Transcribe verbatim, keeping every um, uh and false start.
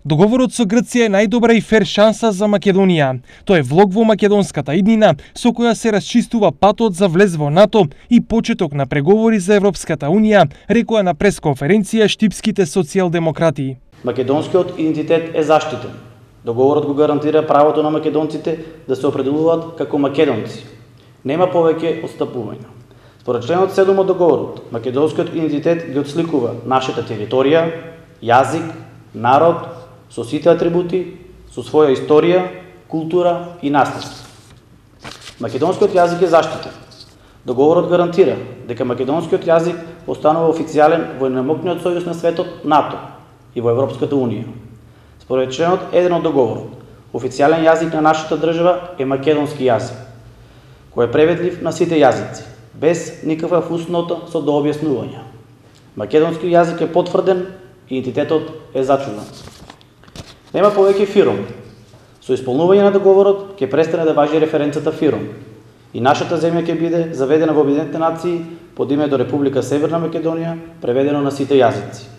Договорот со Грција е најдобра и фер шанса за Македонија. Тоа е влог во македонската иднина со која се расчистува патот за влез во НАТО и почеток на преговори за Европската унија, рекоа на пресконференција штипските социјалдемократи. Македонскиот идентитет е заштитен. Договорот го гарантира правото на македонците да се определуваат како македонци. Нема повеќе отстапување. Според членот седум од договорот, македонскиот идентитет ги отсликува нашата територија, јазик, народ, со сите атрибути, со своја историја, култура и наследство. Македонскиот јазик е заштитен. Договорот гарантира дека македонскиот јазик останува официјален во најмокниот сојуз на светот НАТО и во Европската унија. Според членот еден од договорот, официјален јазик на нашата држава е македонски јазик, кој е преведлив на сите јазици, без никаква фуснота со дообјаснување. Македонски јазик е потврден и идентитетот е зачуван. Нема повеќе ФИРОМ. Со исполнување на договорот ќе престане да важи референцата ФИРОМ и нашата земја ќе биде заведена во Обединетите нации под името Република Северна Македонија, преведено на сите јазици.